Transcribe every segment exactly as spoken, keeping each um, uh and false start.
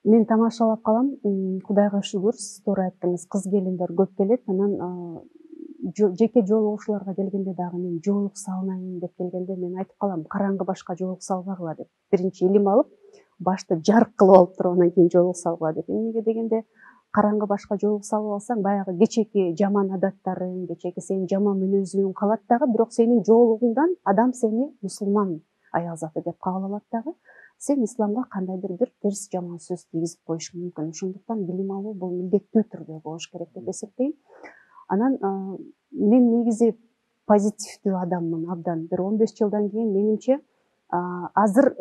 Мен тамашалап калам. Кудайга шүгүр, сиз туура айттыңыз, кыз келиндер көп келет. Анан жеке жолугушууларга келгенде дагы мен жоолук салынайын деп келгенде мен айтып калам, караңгы башка жоолук салбагыла деп. Биринчи илим алып, башты жарык кылып алып туруп, анан кийин жоолук салгыла деп. Эмнеге дегенде, караңгы башка жоолук салып алсаң, баягы кечеки жаман адаттарың, кечеки сенин жаман мүнөзүң калат дагы, бирок сенин жоолугуңдан адам сени мусулман аял заты деп кабыл алат дагы. Сен исламга кандайдыр бир терс жаман сөз тийгизип коюшуң мүмкүн. Ошондуктан билим алуу бул милдеттүү түрдө болуш керек деп эсептейм. Анан мен негизи позитивдүү адаммын абдан. Бир он беш жылдан кийин менимче азыр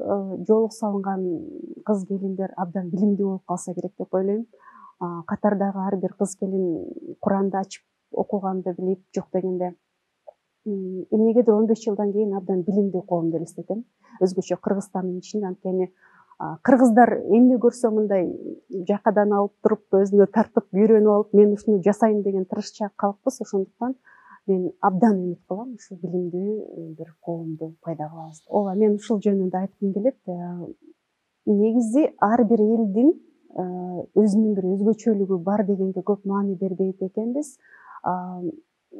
жоолук салынган кыз келиндер абдан билимдүү болуп калса керек деп ойлойм. Катардагы ар бир кыз келин Куранды ачып окуганды билип, жок дегенде эмнегедир он беш жылдан кийин абдан билимдүү коом деп элестетем. Өзгөчө Кыргызстандын ичинде, анткени кыргыздар эмне көрсө мындай жакадан алып туруп, өзүнө тартып, үйрөнүп алып, мен ушуну жасайм деген тырышчаак калкпыз. Ошондуктан мен абдан үмүт кылам, ушу билимдүү бир коомду пайда кылабыз. Ооба, мен ушул жөнүндө айткым келет. Негизи ар бир элдин өзүнүн бир өзгөчөлүгү бар дегенге көп маани бербейт экенбиз.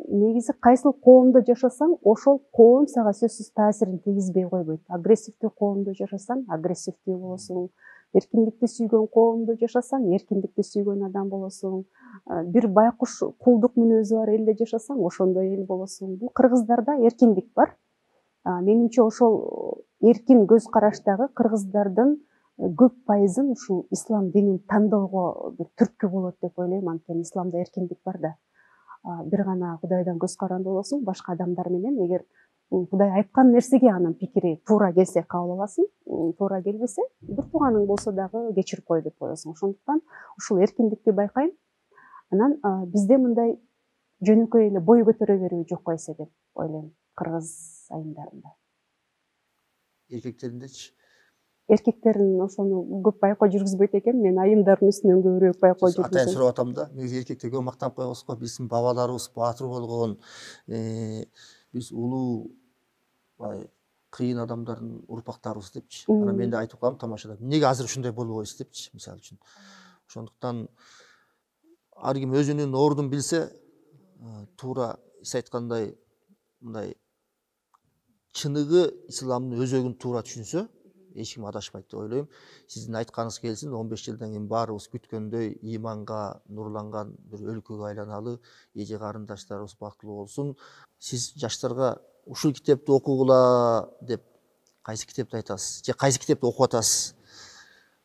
Негизи кайсыл коомдо жашасаң, ошол коом сага сөзсүз таасирин тийгизбей койбойт. Агрессивдүү коомдо жашасаң, агрессивдүү болосуң. Эркиндикти сүйгөн коомдо жашасаң, эркиндикти сүйгөн адам болосуң. Бир байкуш кулдук мүнөзү бар элде жашасаң, ошондой эл болосуң. Бул кыргыздарда эркиндик бар. Менимче ошол эркин көз караштагы кыргыздардын көп пайызын ушул ислам динин тандоого бир түрткү болот деп ойлойм, анткени исламда эркиндик бар да. Бир гана Кудайдан көз каранды болосуң, башка адамдар менен эгер Кудай айткан нерсеге анын пикири туура келсе кабыл аласың, туура келбесе, бир тууганың болсо дагы кечирип кой деп коесуң. Ошондуктан ушул эркиндикти байкайм. Анан бизде мындай жөнөкөй эле бой көтөрө берүү жок койсо деп ойлойм кыргыз айымдарында. Эркектериндечи? Эркектерин ошону көп байкоо жүргүзбөйт экен. Мен айымдардын үстүнөн көбүрөөк байкоо жүргүзөм. Атайын сурап атам да. Негизи эркектерге мактанып коебуз го. Биздин бабаларыбыз баатыр болгон, биз улуу бай кыйын адамдардын урпактарыбыз депчи. Анан мен да айтып калам тамашада. Эмнеге азыр ушундай болбойбуз депчи, мисалы үчүн. Ошондуктан ар ким өзүнүн ордун билсе, туура сиз айткандай мындай чыныгы исламдын өзөгүн туура түшүнсө, эч ким адашпайт деп ойлойм. Сиздин айтканыңыз келсин, он беш жылдан кийин баарыбыз күткөндөй ыйманга нурланган бир өлкөгө айланалы, эже карындаштарыбыз бактылуу болсун. Сиз жаштарга ушул китепти окугула деп кайсы китепти айтасыз? Же кайсы китепти окуп атасыз?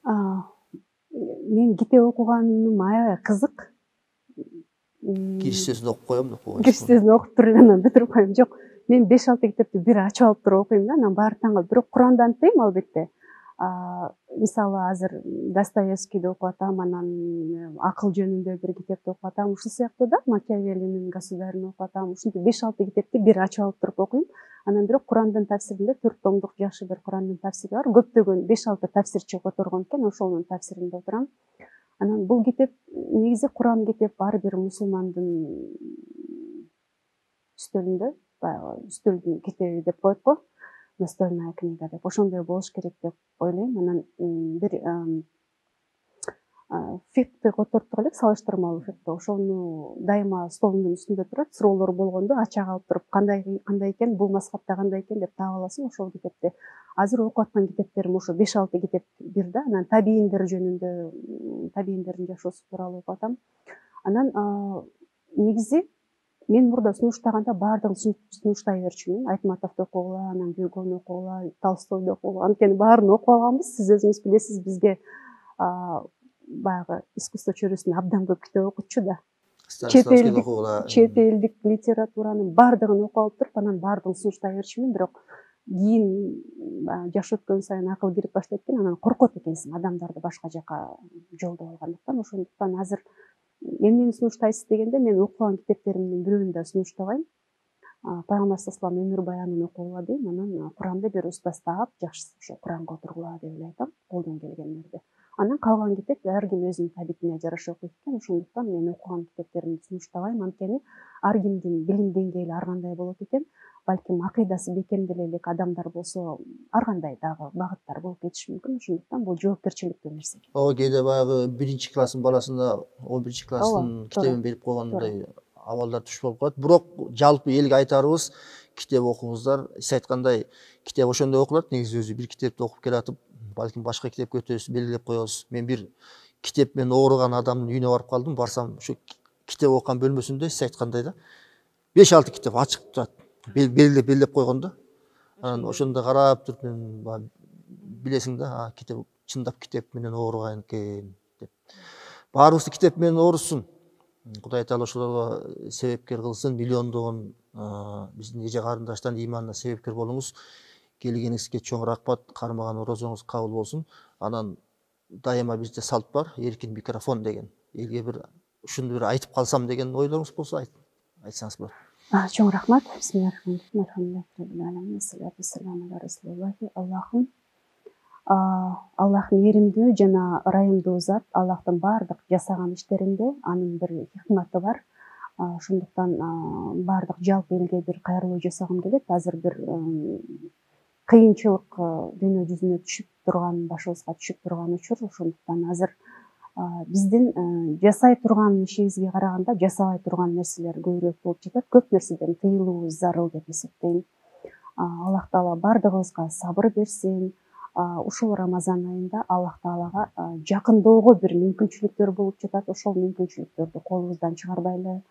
Мен китеп окуганым аябай кызык. Кириш сөзүн окуп коем деп койгонсуз. Кириш сөзүн окуп туруп анан бүтүрүп коем. Жок, мен беш алты китепти бир ачып алып туруп окуйм да, анан баары таң калып. Бирок Куранды антпейм албетте. Мисалы азыр Достоевскийди окуп атам, анан акыл жөнүндө бир китепти окуп атам. Ушул сыяктуу да, Макиавеллинин Государын окуп атам. Ушинтип беш алты китепти бир ачып алып туруп окуйм. Анан бирок Курандын тафсиринде төрт томдук жакшы бир Курандын тафсири бар. Көптөгөн беш алты тафсирчи которгон экен, ошонун тафсиринде отурам. Анан бул китеп негизи Куран китеп ар бир мусулмандын үстөлүндө, баягы үстөлдүн китеби деп коет го. Настольная книга деп, ошондой болуш керек деп ойлойм. Анан бир фикти котортук элек, салыштырмалуу фикти. Ошону дайыма столумдун үстүндө турат. Суроолор болгондо ача калып туруп, кандай кандай экен, бул мазхабта кандай экен деп таап аласың ошол китепти. Азыр окуп аткан китептерим ошо беш алты китеп бир да. Анан табийиндер жөнүндө, табийиндердин жашоосу тууралуу окуп атам. Анан негизи мен мурда сунуштаганда баардыгын сунуштай берчүмүн. Айтматовду окугула, анан Гюгону окугула, Толстойду окугула. Анткени баарын окуп алганбыз. Сиз өзүңүз билесиз, бизге баягы искусство чөйрөсүндө абдан көп китеп окутчу да. Чет элдик литературанын баардыгын окуп алып туруп, анан баардыгын сунуштай берчүмүн. Бирок кийин жаш өткөн сайын акыл кирип баштайт экен, анан коркот экенсиң адамдарды башка жака жолдоп алгандыктан. Ошондуктан азыр эмнени сунуштайсыз дегенде, мен окуган китептеримдин бирөөнү да сунуштабайм. Пайгамбар саллаллаху алейхи өмүр баянын окугула дейм, анан Куранды бир устаз таап, жакшысы ошо Куранга отургула деп эле айтам, колдон келгендерди. Анан калган китеп ар ким өзүнүн табитине жараша окуйт экен. Ошондуктан мен окуган китептеримди сунуштабайм, анткени ар кимдин билим деңгээли ар кандай болот экен. балким акыйдасы бекемделе элек адамдар болсо ар кандай дагы багыттар болуп кетиши мүмкүн. Ошондуктан бул жоопкерчиликтүү нерсе. Ооба, кээде баягы биринчи класстын баласына он биринчи класстын китебин берип койгондой абалдар туш болуп калат. Бирок жалпы элге айтарыбыз, китеп окуңуздар. Сиз айткандай, китеп ошондой окулат. Негизи өзү бир китепти окуп келатып, балким башка китепке өтөбүз, белгилеп коебуз. Мен бир китеп менен ооруган адамдын үйүнө барып калдым. Барсам, ошо китеп окуган бөлмөсүндө сиз айткандай да беш алты китеп ачык турат. Белгилеп белгилеп койгон да. Анан ошондо карап туруп мен билесиң да, китеп чындап китеп менен ооруган экен деп. Баарыбызды китеп менен оорусун. Кудай таала ошолорго себепкер кылсын. Миллиондогон биздин эже карындаштардын ыйманына себепкер болуңуз. Келгениңизге чоң рахмат. Кармаган орозоңуз кабыл болсун. Анан дайыма бизде салт бар, эркин микрофон деген. Элге бир ушуну бир айтып калсам деген ойлоруңуз болсо айтсаңыз болот. Чоң рахмат. Аллахым Аллахым эримдүү жана ырайымдуу зат. Аллахтын баардык жасаган иштеринде анын бир хикматы бар. Ошондуктан баардык жалпы элге бир кайрылуу жасагым келет. Азыр бир кыйынчылык дүйнө жүзүнө түшүп турган, башыбызга түшүп турган учур. Ошондуктан азыр биздин жасай турган ишибизге караганда жасабай турган нерселер көбүрөөк болуп жатат. Көп нерседен тыйылуубуз зарыл деп эсептейм. Аллах таала баардыгыбызга сабыр берсин. Ушул Рамазан айында Аллах таалага жакындоого бир мүмкүнчүлүктөр болуп жатат. Ошол мүмкүнчүлүктөрдү колубуздан чыгарбайлы.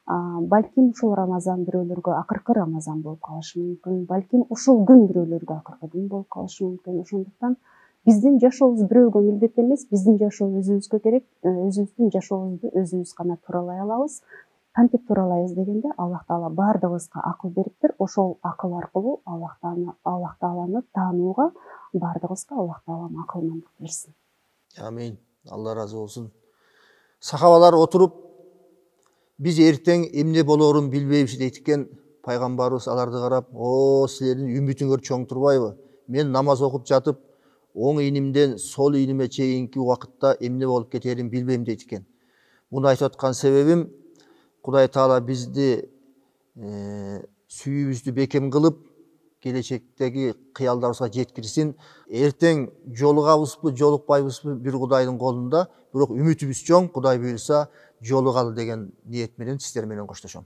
Балким ушул Рамазан бирөөлөргө акыркы Рамазан болуп калышы мүмкүн. Балким ушул күн бирөөлөргө акыркы күн болуп калышы мүмкүн. Ошондуктан биздин жашообуз бирөөгө милдет эмес, биздин жашоо өзүбүзгө керек. Өзүбүздүн жашообузду өзүбүз гана тууралай алабыз. Кантип тууралайбыз дегенде, Аллах таала баардыгыбызга акыл бериптир. Ошол акыл аркылуу Аллах тааланы Аллах тааланы таанууга баардыгыбызга Аллах таалам акылмандык берсин. Амин. Алла разы болсун. Сахабалар отуруп, биз эртең эмне болоорун билбейбиз дейт экен. Пайгамбарыбыз аларды карап, "О, силердин үмүтүңөр чоң турбайбы? Мен намаз окуп жатып, оң ийнимден сол ийниме чейинки убакытта эмне болуп кетерин билбейм" дейт экен. Муну айтып аткан себебим, Кудай таала бизди сүйүүбүздү бекем кылып, келечектеги кыялдарыбызга жеткирсин. Эртең жолугабызбы, жолукпайбызбы бир Кудайдын колунда, бирок үмүтүбүз чоң. Кудай буйруса жолугалы деген ниет менен сиздер менен коштошом.